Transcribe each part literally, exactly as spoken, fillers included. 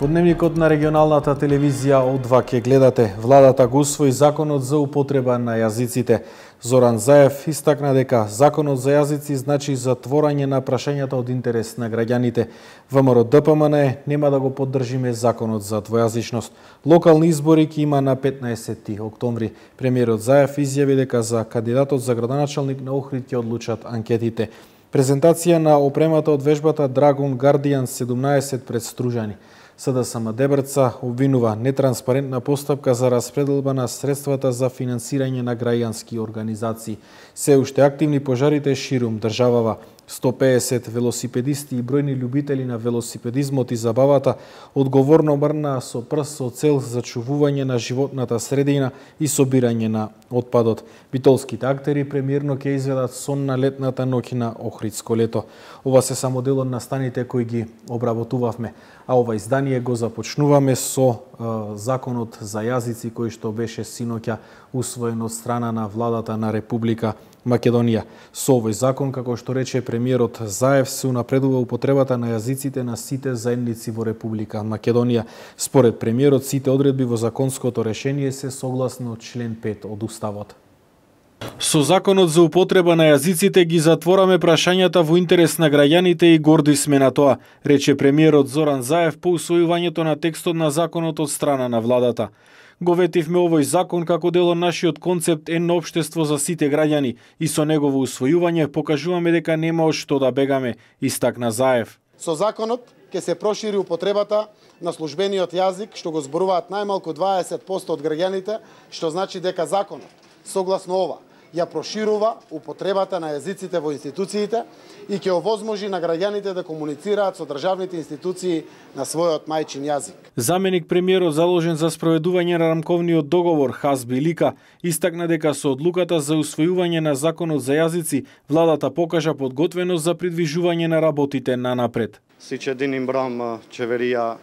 Дневникот на регионалната телевизија О два ке гледате. Владата го усвои законот за употреба на јазиците. Зоран Заев истакна дека законот за јазици значи затворање на прашањата од интерес на граѓаните. ВМРО Д П М Н нема да го поддржиме законот за двојазичност. Локални избори ќе има на петнаесети октомври. Премиерот Заев изјави дека за кандидатот за градоначалник на Охрид ќе одлучат анкетите. Презентација на опремата од вежбата Dragon Guardian седумнаесет пред Стружани. С Д С М Дебрца обвинува нетранспарентна постапка за распределба на средствата за финансирање на граѓански организации. Се уште активни пожарите ширум државава. сто пеесет велосипедисти и бројни љубители на велосипедизмот и забавата одговорно мрнаа со прст со цел зачувување на животната средина и собирање на отпадот. Битолските актери премиерно ќе изведат сон на летната ноќ на Охридско лето. Ова се само дел од настаните кои ги обработувавме, а ова издание го започнуваме со е, законот за јазици кој што беше синоќа усвоен од страна на владата на Република Македонија. Со овој закон, како што рече премиерот Заев, се унапредува употребата на јазиците на сите заедници во Република Македонија. Според премиерот, сите одредби во законското решение се согласно член пет од Уставот. Со законот за употреба на јазиците ги затвораме прашањата во интерес на граѓаните и горди сме на тоа, рече премиерот Зоран Заев по усвојувањето на текстот на законот од страна на владата. Го ветивме овој закон како дел од нашиот концепт едно општество за сите граѓани и со негово усвојување покажуваме дека нема од што да бегаме, истакна Заев. Со законот ќе се прошири употребата на службениот јазик, што го зборуваат најмалку дваесет проценти од граѓаните, што значи дека законот, согласно ова, ја проширува употребата на јазиците во институциите и ќе овозможи на граѓаните да комуницираат со државните институции на својот мајчин јазик. Заменик премиерот заложен за спроведување на рамковниот договор Хазби Лика истакна дека со одлуката за усвојување на законот за јазици владата покажа подготвеност за придвижување на работите на напред. Сичедин имбрам чеверија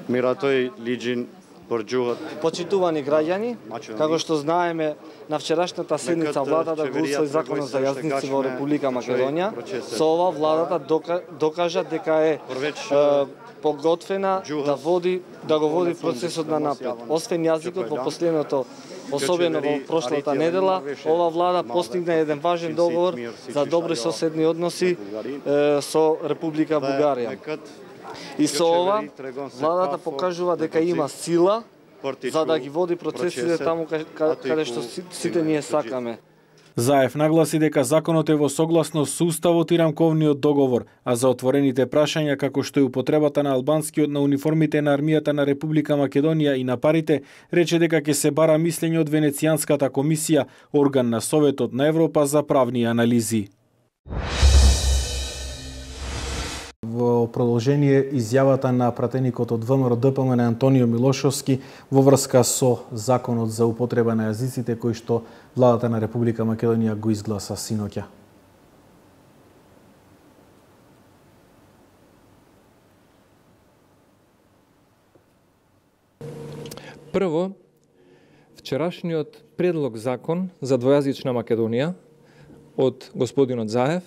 Миратој Лиџин Почитувани граѓани, како што знаеме, на вчерашната седница владата го усвои законот за јазници во Република Македонија. Со ова владата докажа дека е подготвена да води да го води процесот на напред. Освен јазикот во последното, особено во прошлата недела, ова влада постигна еден важен договор за добри соседни односи со Република Бугарија. И со ова, владата покажува дека има сила за да ги води процесите таму каде што сите ние сакаме. Заев нагласи дека законот е во согласност со Уставот и рамковниот договор, а за отворените прашања како што е употребата на албанскиот на униформите на армијата на Република Македонија и на парите, рече дека ќе се бара мислење од Венецијанската комисија, орган на Советот на Европа за правни анализи. Во продолжение изјавата на пратеникот од ВМРО Д П М Н Антонио Милошовски во врска со законот за употреба на јазиците кој што владата на Република Македонија го изгласа синоќа. Прво, вчерашниот предлог закон за двојазична Македонија од господинот Заев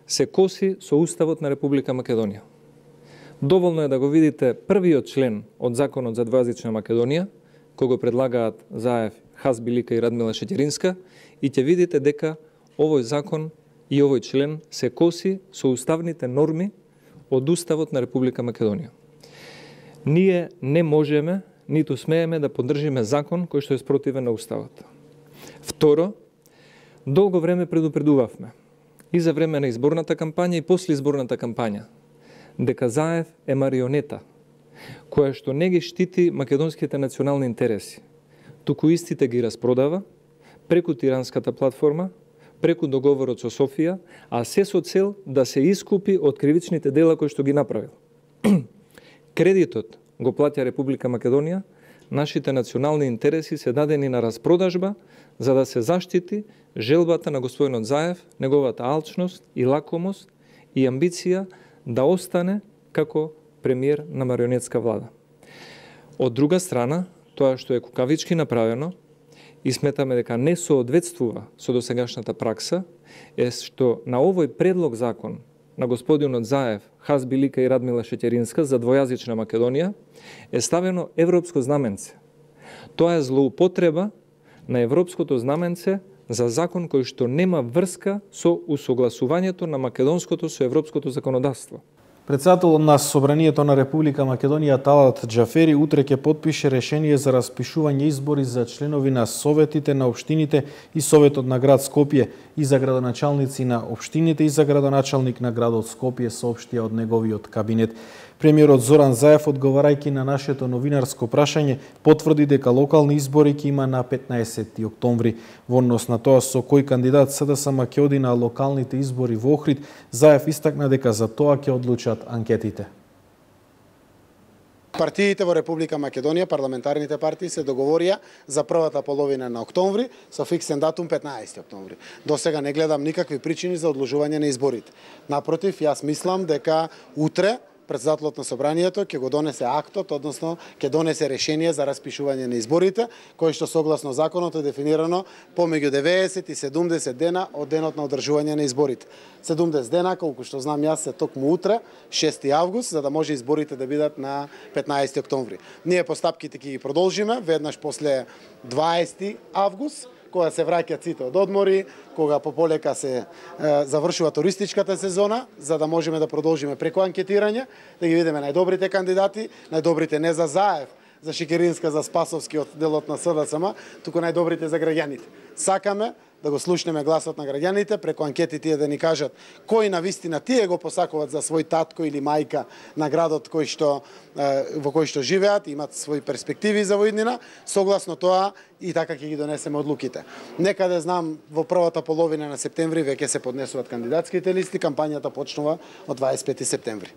се коси со Уставот на Република Македонија. Доволно е да го видите првиот член од Законот за двојазична Македонија, кој го предлагаат Заев, Хазби Лика и Радмила Шеќеринска, и ќе видите дека овој закон и овој член се коси со уставните норми од Уставот на Република Македонија. Ние не можеме, ниту смееме да поддржиме закон кој што е спротивен на Уставот. Второ, долго време предупредувавме и за време на изборната кампања и после изборната кампања, дека Заев е марионета, која што не ги штити македонските национални интереси, туку истите ги распродава преку тиранската платформа, преку договорот со Софија, а се со цел да се искупи од кривичните дела кои што ги направил. Кредитот го плаќа Република Македонија, нашите национални интереси се дадени на распродажба за да се заштити желбата на господинот Заев, неговата алчност и лакомост и амбиција да остане како премиер на марионетска влада. Од друга страна, тоа што е кукавички направено и сметаме дека не соодветствува со досегашната пракса, е што на овој предлог закон на господинот Заев, Хазби Лика и Радмила Шеќеринска за двојазична Македонија е ставено европско знаменце. Тоа е злоупотреба на европското знаменце за закон кој што нема врска со усогласувањето на македонското со европското законодавство. Председателот на Собранието на Република Македонија Талат Џафери утре ќе потпише решение за распишување избори за членови на советите на општините и Советот на град Скопје и за градоначалници на општините и за градоначалник на градот Скопје, соопштија од неговиот кабинет. Премиерот Зоран Заев, одговарајќи на нашето новинарско прашање, потврди дека локални избори ќе има на петнаесети октомври. Во однос на тоа со кој кандидат СДСМ ќе оди на локалните избори во Охрид, Заев истакна дека за тоа ќе одлучат анкетите. Партиите во Република Македонија, парламентарните партии, се договорија за првата половина на октомври со фиксен датум петнаесети октомври. До сега не гледам никакви причини за одлужување на изборите. Напротив, јас мислам дека утре председателот на Собранието ќе го донесе актот, односно ќе донесе решение за распишување на изборите, кој што согласно законот е дефинирано помеѓу деветдесет и седумдесет дена од денот на одржување на изборите. седумдесет дена, колку што знам јас, се токму утре, шести август, за да може изборите да бидат на петнаесети октомври. Ние постапките ќе ги продолжиме веднаш после дваесети август, кога се враќаат сите од одмори, кога пополека се е, завршува туристичката сезона, за да можеме да продолжиме преку анкетирање, да ги видиме најдобрите кандидати, најдобрите не за Заев, за Шекеринска, за Спасовски од делот на СДСМ, туку најдобрите за граѓаните. Сакаме да го слушнеме гласот на граѓаните, преку анкети тие да ни кажат кој на вистина тие го посакуваат за свој татко или мајка на градот кој што, во кој што живеат, имат своји перспективи за воиднина, согласно тоа и така ќе ги донесеме одлуките. Некаде знам во првата половина на септември веќе се поднесуваат кандидатските листи, кампањата почнува од дваесет и пети септември.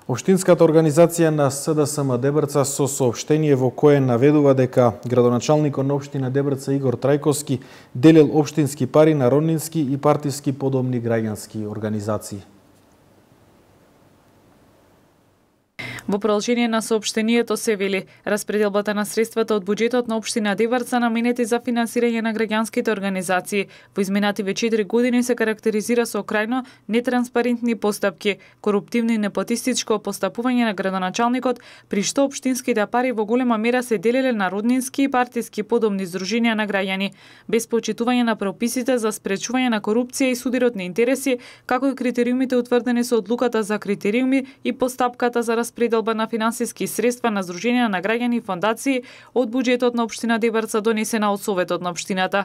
Општинската организација на СДСМ Дебрца со соопштение во кое наведува дека градоначалникот на општина Дебрца Игор Трајковски делил општински пари на роднински и партиски подобни граѓански организации. Во продолжение на соопштението се вели, распределбата на средствата од буџетот на општина Дебрца наменети за финансирање на граѓанските организации во изминативе четири години се карактеризира со крајно нетранспарентни постапки, коруптивно и непотистичко постапување на градоначалникот, при што општинските пари во голема мера се делеле на роднински и партиски подобни здруженија на граѓани, без почитување на прописите за спречување на корупција и судирот на интереси, како и критериумите утврдени со одлуката за критериуми и постапката за распределба на финансиски средства на здруженија на граѓани и фондации од буџетот на општина Дебрца донесена од Советот на општината.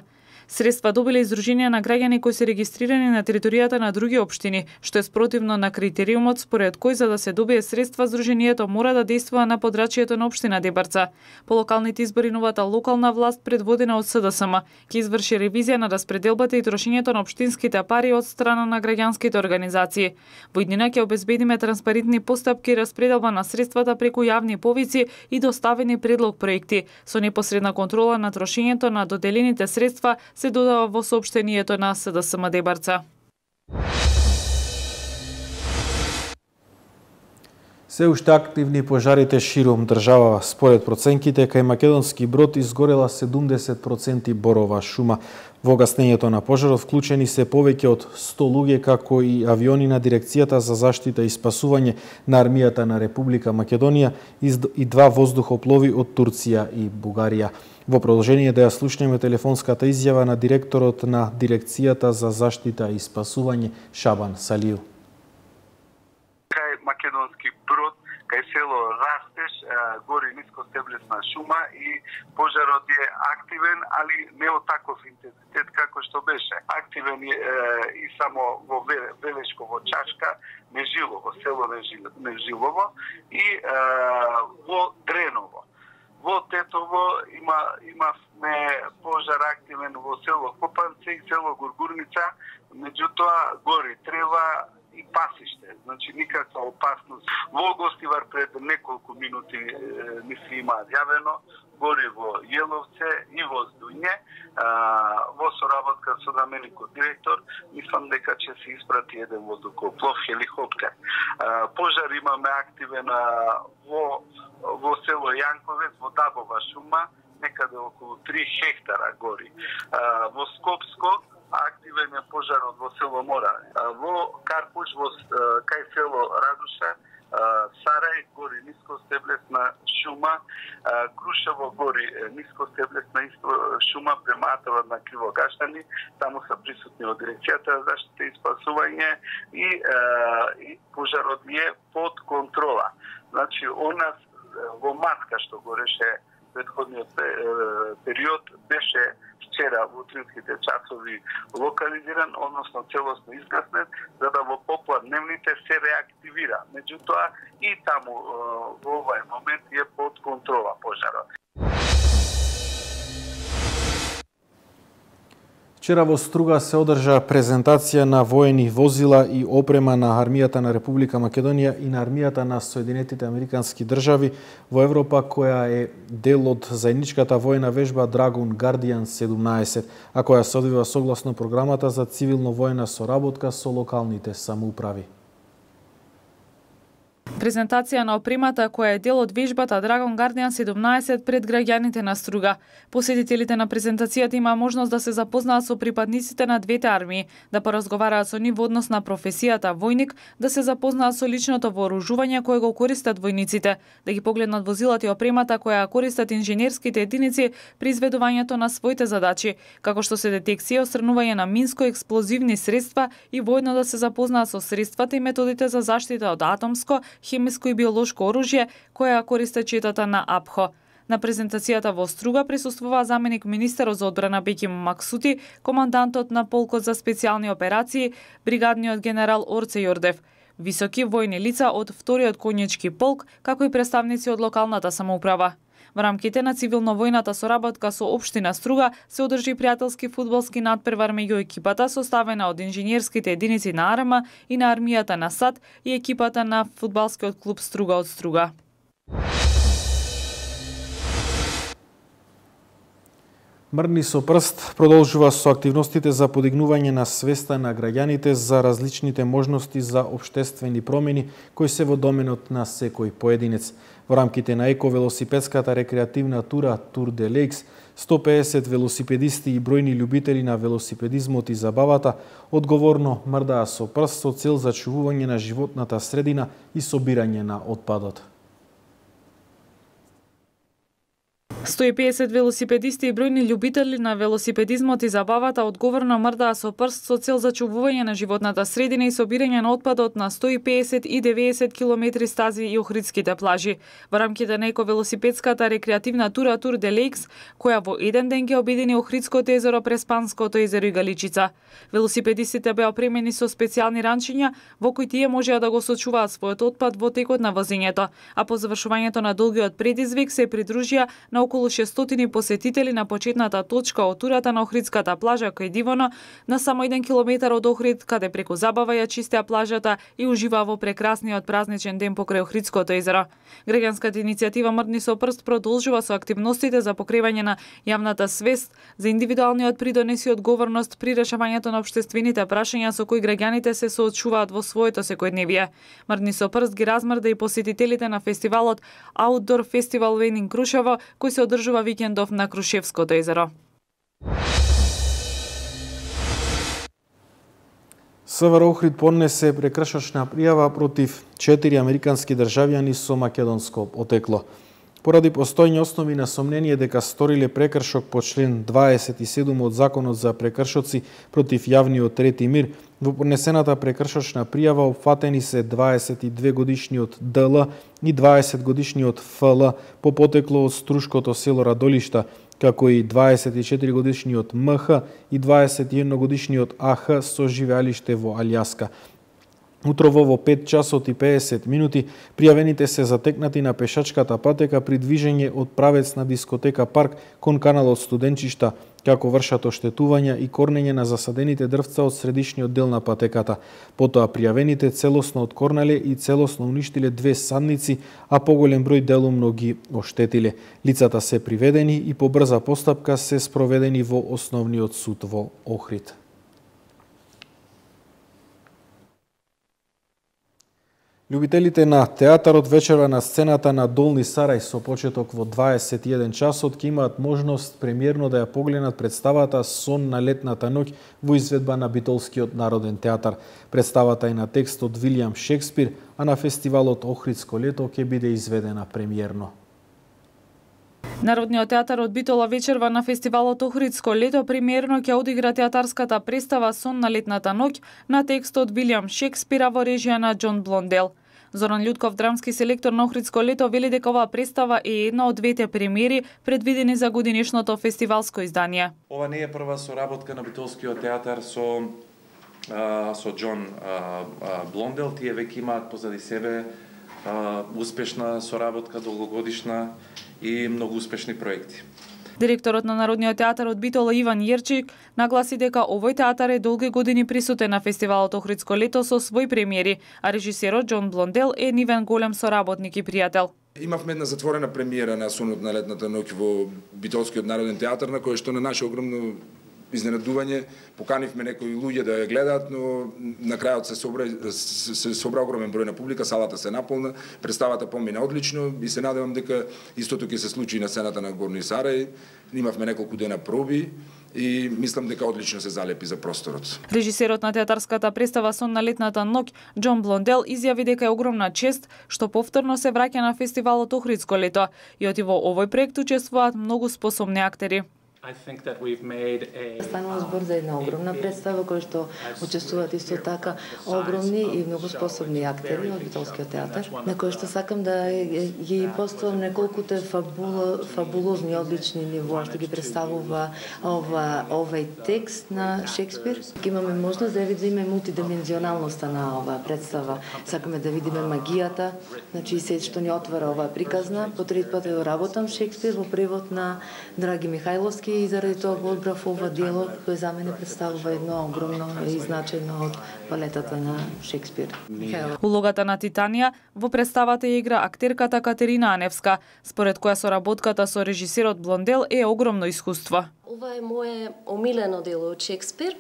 Средства добиле издруженија на граѓани кои се регистрирани на територијата на други општини, што е спротивно на критериумот според кој за да се добие средства здруженијето мора да действува на подрачјето на општина Дебрца. По локалните избори новата локална власт предводена од СДСМ ќе изврши ревизија на распределбата и трошењето на општинските пари од страна на граѓанските организации. Во иднина ќе обезбедиме транспарентни постапки и распределба на средствата преку јавни повици и доставени предлог проекти со непосредна контрола на трошењето на доделените средства, се додава во соопштението на СДСМ Дебрца. Се уште активни пожарите широм држава. Според проценките, кај Македонски Брод изгорела седумдесет проценти борова шума. Во гаснењето на пожарот вклучени се повеќе од сто луѓе, како и авиони на Дирекцијата за заштита и спасување на армијата на Република Македонија и два воздухоплови од Турција и Бугарија. Во продолжение да ја слушнеме телефонската изјава на директорот на Дирекцијата за заштита и спасување Шабан Салију. Кај Македонски Брод, кај село Растеш, гори нискостеблесна шума и пожарот е активен, али не од таков интензитет како што беше. Активен е и само во Велешково, Чашка, Нежилово, село Нежилово и во Дреново. Во Тетово има имавме пожар активен во село Копанце и село Гургурница, меѓутоа гори трева и пасиште, значи никаква опасност. Во Гостивар пред неколку минути е, ни се има јавено, гори во Јеловце и во Здуње, во соработка со заменикот директор, мислам дека ќе се испрати еден воздухоплов хеликоптер. А, пожар имаме активен во во село Јанковец, во Дабова шума, некаде околу три хектара гори. А, во Скопско активен е пожарот во село Мора. Во Карпуш, во кај село Радуша, Сарај гори нискостеблесна шума, Крушево гори нискостеблесна шума прематава на Кривогашани, таму се присутни од дирекцијата за заштита и спасување и, и пожарот е под контрола. Значи, у нас во Матка што гореше предходниот период беше вчера во утринските часови локализиран, односно целосно изгаснет, за да во попладневните се реактивира. Меѓутоа и таму во овај момент е под контрола пожарот. Вчера во Струга се одржа презентација на воени возила и опрема на армијата на Република Македонија и на армијата на Соединетите Американски држави во Европа, која е дел од заедничката воена вежба Dragon Guardian седумнаесет, а која се одвива согласно програмата за цивилно-воена соработка со локалните самоуправи. Презентација на опремата која е дел од вежбата Dragon Guardian седумнаесет пред граѓаните на Струга. Посетителите на презентацијата има можност да се запознаат со припадниците на двете армии, да поразговараат со нив во однос на професијата војник, да се запознаат со личното вооружување кое го користат војниците, да ги погледнат возилата и опремата која користат инженерските единици при изведувањето на своите задачи, како што се детекција и отстранување на минско-експлозивни средства и воедно да се запознаат со средствата и методите за заштита од атомско, хемиско и биолошко оружје која користат четата на АПХО. На презентацијата во Струга присуствува заменик министерот за одбрана Беким Максути, командантот на полкот за специјални операции, бригадниот генерал Орце Јордев, високи војни лица од вториот конјачки полк, како и представници од локалната самоуправа. Во рамките на цивилно-војната соработка со општина Струга се одржи пријателски фудбалски надпревар меѓу екипата составена од инженерските единици на АРМА и на армијата на САД и екипата на фудбалскиот клуб Струга од Струга. Мрдни со прст продолжува со активностите за подигнување на свеста на граѓаните за различните можности за општествени промени кои се во доменот на секој поединец. Во рамките на еко-велосипедската рекреативна тура Тур де Лейкс, сто педесет велосипедисти и бројни љубители на велосипедизмот и забавата одговорно мрдаа со прст со цел зачувување на животната средина и собирање на отпадот. сто и педесет велосипедисти и бројни љубители на велосипедизмот и забавата одговорно мрдаа со прст со цел зачувување на животната средина и собирање на отпадот на сто и педесет и деветдесет километри стази и охридските плажи. Во рамките на еко-велосипедската рекреативна тура Тур де Лейкс, која во еден ден ги обедини Охридското езеро, Преспанското езеро и Галичица. Велосипедистите беа опремени со специјални ранчиња во кои тие можеа да го сочуваат својот отпад во текот на возењето, а по завршувањето на долгиот предизвик се придружија на околу шестстотини посетители на почетната точка од турата на Охридската плажа кај Дивоно, на само еден километар од Охрид, каде преку забава ја чистеа плажата и уживаа во прекрасниот празничен ден покрај Охридското езеро. Граѓанската иницијатива Мрдни со прст продолжува со активностите за покривање на јавната свест за индивидуалниот придонес и одговорност при решавањето на општествените прашања со кои граѓаните се соочуваат во своето секојдневие. Мрдни со прст ги размрда и посетителите на фестивалот Outdoor Festival Венин Крушево, кој се одржува викендов на Крушевското езеро. СВР Охрид поднесе прекршачна пријава против четири американски државјани со македонско потекло. Поради постојни основи на сомнение дека сториле прекршок по член дваесет и седум од Законот за прекршоци против јавниот ред и мир, во поднесената прекршачна пријава опфатени се дваесет и две годишниот Д Л и дваесет годишниот Ф Л по потекло од Струшкото село Радолишта, како и дваесет и четири годишниот М Х и дваесет и едно годишниот А Х со живеалиште во Алјаска. Утрово во пет часот и педесет минути пријавените се затекнати на пешачката патека при движење од правец на дискотека Парк кон каналот Студенчишта, како вршат оштетувања и корнење на засадените дрвца од средишниот дел на патеката. Потоа пријавените целосно откорнале и целосно уништиле две садници, а поголем број делумно ги оштетиле. Лицата се приведени и по брза постапка се спроведени во Основниот суд во Охрид. Љубителите на театарот вечерва на сцената на Долни Сарај со почеток во дваесет и еден часот ќе имаат можност премиерно да ја погледнат представата Сон на летната ноќ во изведба на Битолскиот народен театар. Представата е на текст од Вилијам Шекспир, а на фестивалот Охридско лето ќе биде изведена премиерно. Народниот театар од Битола вечерва на фестивалот Охридско лето премиерно ќе одигра театарската представа Сон на летната ноќ на текст од Вилијам Шекспира во режија на Џон Блондел. Зоран Љутков, драмски селектор на Охридско лето, вели дека оваа представа е една од двете премиери предвидени за годинешното фестивалско издание. Ова не е прва соработка на Битолскиот театар со а, со Џон а, а, Блондел. Тие веќе имаат позади себе а, успешна соработка, долгогодишна и многу успешни проекти. Директорот на Народниот театар од Битола Иван Јерчик нагласи дека овој театар е долги години присутен на фестивалот Охридско лето со свој премиери, а режисерот Џон Блондел е нивен голем соработник и пријател. Имавме една затворена премиера на Сонот на летната ноќ во Битолскиот народен театар, на која што на наше огромно изненадување поканивме некои луѓе да ја гледаат, но на крајот се собра се собра огромен број на публика, салата се наполна, представата помина одлично и се надевам дека истото ќе се случи на сцената на Горни Сарај. Имавме неколку дена проби и мислам дека одлично се залепи за просторот. Режисерот на театарската представа Сон на летната ноќ, Џон Блондел, изјави дека е огромна чест што повторно се враќа на фестивалот Охридско лето и оти во овој проект учествуваат многу способни актери. Станува збор за една огромна представа која што учествуваат исто така огромни и многу способни актери од Битолскиот театар, на кој што сакам да ги поставам неколкуте фабуло, фабулозни одлични нивоа што ги представува ова овој текст на Шекспир. Имаме можност да видиме мултидимензионалноста на оваа представа. Сакаме да видиме магијата, значи се што ни отвара оваа приказна. По трети пат ја работам Шекспир во превод на Драги Михајловски и заради тоа го одбрав ова дело кој за мене представува едно огромно и значајно од палетата на Шекспир. Улогата на Титанија во представата ја игра актерката Катерина Аневска, според која соработката со режисерот Блондел е огромно искуство. Ова е мое омилено дело од Шекспир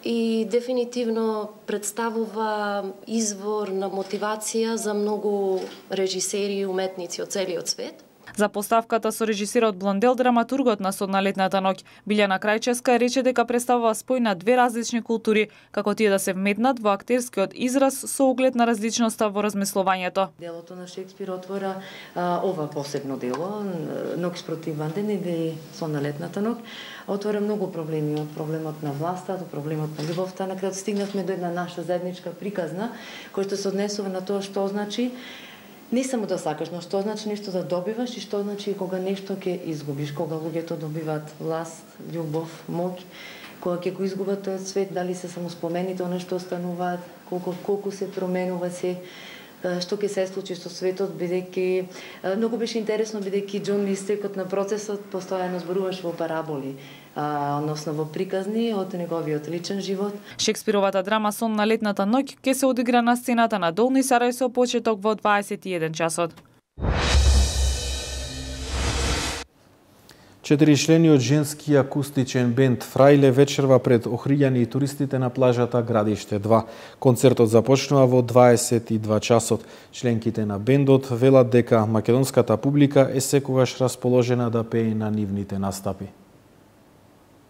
и дефинитивно представува извор на мотивација за многу режисери и уметници од целиот свет. За поставката со режисерот Блондел, драматургот на Сон на летната ноќ, Билјана Крајчевска, рече дека представува спој на две различни култури, како тие да се вметнат во актерскиот израз со оглед на различноста во размислувањето. Делото на Шекспир отвора а, ова посебно дело, Ноќ спротив Ванден или Сон на летната ноќ, отвора многу проблеми, од проблемот на власта до проблемот на љубовта. На крај стигнавме до една наша заедничка приказна, која што се однесува на тоа што значи не само да сакаш, но што значи нешто да добиваш и што значи кога нешто ќе изгубиш, кога луѓето добиваат власт, љубов, моќ, кога ќе го изгубат тој свет, дали се само спомените она што остануваат, колку колку се променува се, што ќе се случи со светот, бидејќи многу беше интересно бидејќи Џон истекот на процесот постојано зборуваше во параболи, а, односно во приказни од неговиот личен живот. Шекспировата драма Сон на летната ноќ ќе се одигра на сцената на Долни Сарај со почеток во дваесет и еден часот. Четиричлениот женски акустичен бенд Фрајле вечерва пред охриѓани и туристите на плажата Градиште два. Концертот започнува во дваесет и два часот. Членките на бендот велат дека македонската публика е секогаш расположена да пее на нивните настапи.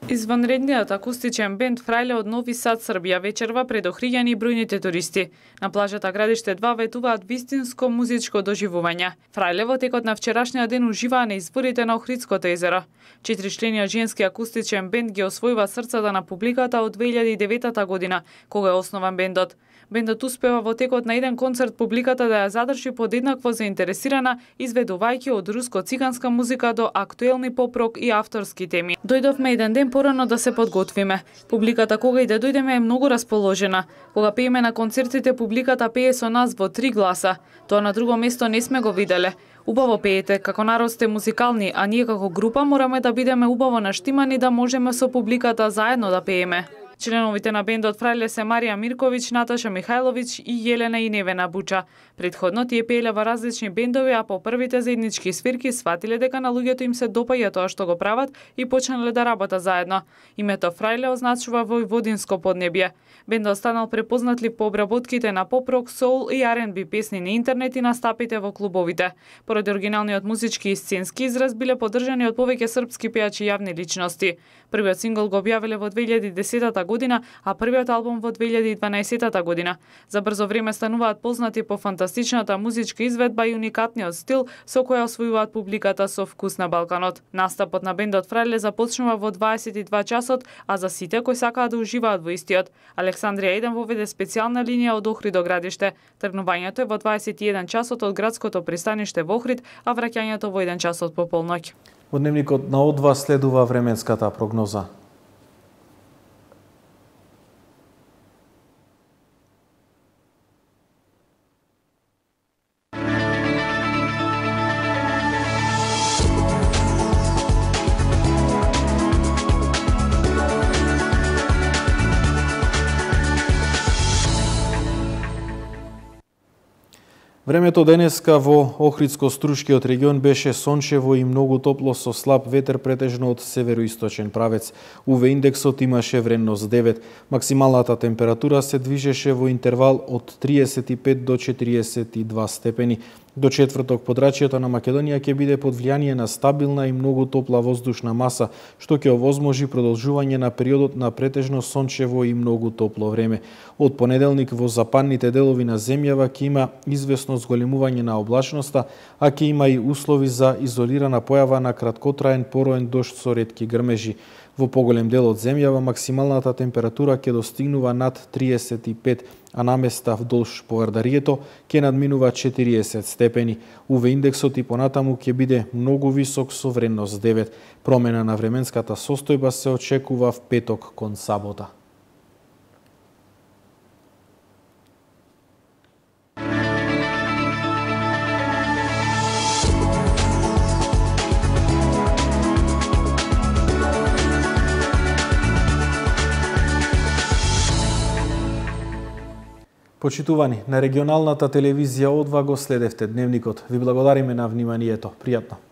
Изванредниот акустичен бенд Фрајле од Нови Сад, Србија вечерва пред охриѓани и бројните туристи. На плажата Градиште два ветуваат вистинско музичко доживување. Фрајле во текот на вчерашниот ден уживаа на изворите на Охридското езеро. Четиричлениот женски акустичен бенд ги освојува срцата на публиката од две илјади и девета година, кога е основан бендот. Бендот успева во текот на еден концерт публиката да ја задржи подеднакво заинтересирана, изведувајќи од руско-циганска музика до актуелни поп-рок и авторски теми. Дојдовме еден ден порано да се подготвиме. Публиката кога и да дојдеме е многу расположена. Кога пееме на концертите, публиката пее со нас во три гласа. Тоа на друго место не сме го виделе. Убаво пеете, како народ сте музикални, а ние како група мораме да бидеме убаво наштимани да можеме со публиката заедно да пееме. Членовите на бендот Фрајле се Марија Мирковиќ, Наташа Михајловиќ и Јелена и Невена Буча. Предходно тие пееле во различни бендови, а по првите заеднички свирки сватиле дека на луѓето им се допаѓа тоа што го прават и почнале да работат заедно. Името Фрајле означува војводинско поднебје. Бендот станал препознатлив по обработките на поп-рок, соул и ар енд би песни на интернет и настапите во клубовите. Поради оригиналниот музички и сценски израз биле поддржани од повеќе српски пејачи и јавни личности. Првиот сингл го објавиле во две илјади и десетата година, а првиот албум во две илјади и дванаесетата година. За брзо време стануваат познати по фантастичната музичка изведба и уникатниот стил со која освојуваат публиката со вкус на Балканот. Настапот на бендот Фрајле започнува во дваесет и два часот, а за сите кои сакаат да уживаат во истиот, Александрија еден воведе специјална линија од Охрид до градиште. Тргнувањето е во дваесет и еден часот од градското пристаниште во Охрид, а враќањето во еден часот по полноќ. Во дневникот на О два следува временската прогноза. Времето денеска во Охридско-Струшкиот регион беше сончево и многу топло со слаб ветер претежно од североисточен правец. У ве индексот имаше вредност девет. Максималната температура се движеше во интервал од триесет и пет до четириесет и два степени. До четврток подрачјето на Македонија ќе биде под влијание на стабилна и многу топла воздушна маса, што ќе овозможи продолжување на периодот на претежно сончево и многу топло време. Од понеделник во западните делови на земјава ќе има извесно зголемување на облачноста, а ќе има и услови за изолирана појава на краткотраен пороен дожд со ретки грмежи. Во поголем дел од земјава максималната температура ќе достигнува над триесет и пет, а наместа вдолж Повардарието ќе надминува четириесет степени. У ве индексот и понатаму ќе биде многу висок со вредност девет. Промена на временската состојба се очекува в петок кон сабота. Почитувани, на регионалната телевизија О два го следевте дневникот. Ви благодариме на вниманието. Пријатно.